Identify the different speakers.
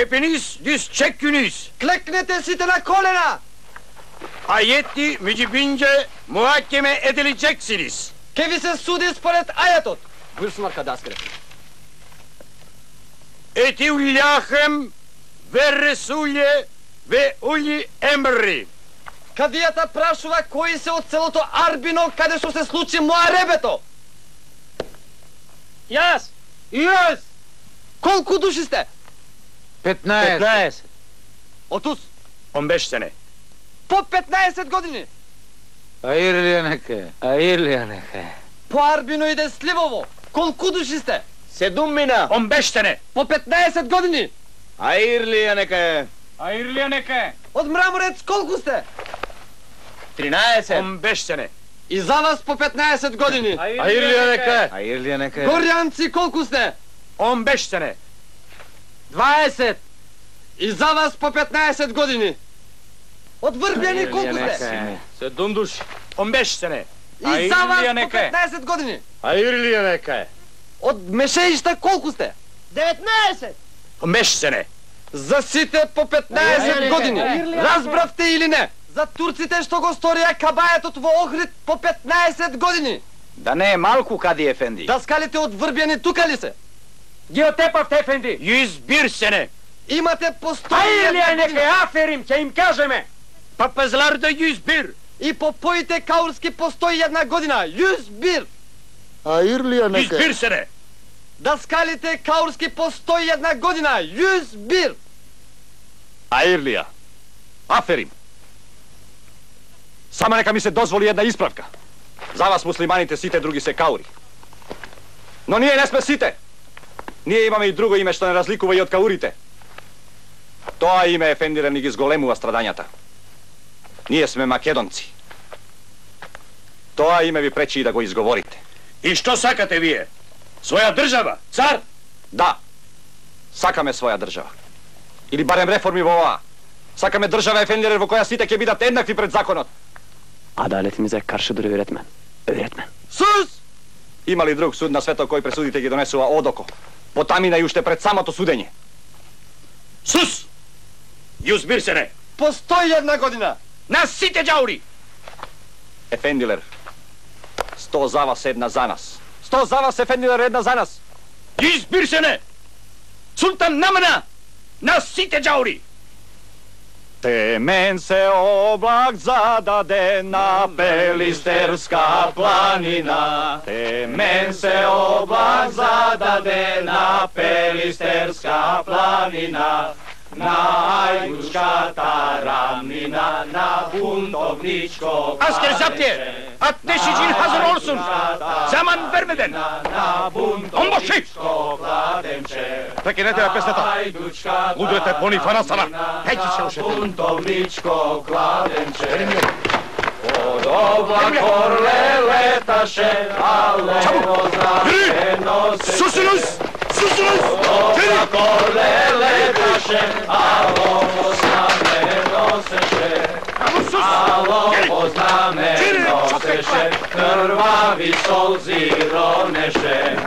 Speaker 1: hepiniz diz çekkünüz.
Speaker 2: Kleknete site na kolena.
Speaker 1: Ayeti mücibince muhakeme edileceksiniz.
Speaker 2: Ке ви се суди според ајатот. Бюрсун аркадаскре.
Speaker 1: Etiullahım ve Resulje ve uli emri.
Speaker 2: Кадијата прашува кои се од селото Арбино каде што се случи Муаребето.
Speaker 3: Јас.
Speaker 2: Јас. Колку души сте?
Speaker 3: 15.
Speaker 2: Отус
Speaker 1: 15 sene.
Speaker 2: по 15 години.
Speaker 3: Ајрлија нека.
Speaker 2: По Арбино иде Сливово. Колку души сте?
Speaker 3: 7 мина.
Speaker 1: 15 sene.
Speaker 2: По 15 години.
Speaker 3: Ајрлија нека.
Speaker 2: Од Мраморец колку сте?
Speaker 3: 13.
Speaker 1: 15 sene.
Speaker 2: И за вас по 15 години.
Speaker 3: Ајрлија нека.
Speaker 2: Горјанци колку сте?
Speaker 1: 15 sene.
Speaker 2: 20. И за вас по 15 години. Од Врбјани колку сте?
Speaker 3: 7 души.
Speaker 1: 15 sene.
Speaker 2: И за вас по 15 години.
Speaker 3: Ајрлија нека.
Speaker 2: Од Мешеишта колку сте?
Speaker 4: 19.
Speaker 1: 15 sene.
Speaker 2: За сите по 15 години. Разбравте или не? За турците што го сторија кабајетот во Охрид по 15 години.
Speaker 3: Да не е малку, Кади ефенди.
Speaker 2: Даскалите од Врбјани тука ли се?
Speaker 3: Ги отепавте, ефенди.
Speaker 1: 101 sene.
Speaker 2: Имате по 100
Speaker 3: Ајрлија нека, аферим, ќе им кажеме.
Speaker 1: Papazlarda 101.
Speaker 2: И по поите каурски по 101 година. 101.
Speaker 4: Ајрлија нека.
Speaker 1: 101 sene.
Speaker 2: Даскалите каурски по 101 година. 101.
Speaker 5: Ајрлија. Аферим. Само нека ми се дозволи една исправка. За вас муслиманите сите други се каури. Но ние не сме сите. Ние имаме и друго име што не разликува и од каурите. Тоа име ефендира ни ги зголемува страдањата. Ние сме македонци. Тоа име ви пречи и да го изговорите.
Speaker 1: И што сакате вие? Своја држава? Цар?
Speaker 5: Да. Сакаме своја држава. Или барем реформи во оваа. Сакаме држава ефендире во која сите ќе бидат еднакви пред законот.
Speaker 6: Adaletimize karşı dur öğretmen. Öğretmen.
Speaker 2: Сус!
Speaker 5: Има ли друг суд на светот кој пресудите ги донесува одоко? Потамина и уште пред самото судење.
Speaker 1: Sus! 101 sene.
Speaker 2: По 101 година.
Speaker 1: На сите ѓаури.
Speaker 5: Ефендилер. 100 за вас, една за нас. 100 за вас, ефендилер, една за нас.
Speaker 1: 101 sene. Султан намана. На сите ѓаури.
Speaker 5: Темен се облак зададе на Пелистерска планина. Темен се облак зададе на Пелистерска планина. На Ајдушката рамнина, на бунтовничко
Speaker 1: Asker zaptiye. Ateşicin hazır olsun. Zaman vermeden. Onbaşı.
Speaker 5: Прекинете ја песната. Лудуете пони фана сана.
Speaker 1: Пеки се ушете.
Speaker 5: Бунтовничко кладенче. Од облак орле леташе, але возрастено се.
Speaker 1: Susunuz! Susunuz!
Speaker 5: Облак орле леташе, ало познамено сеше. Ало познамено сеше, крвави солзи ронеше.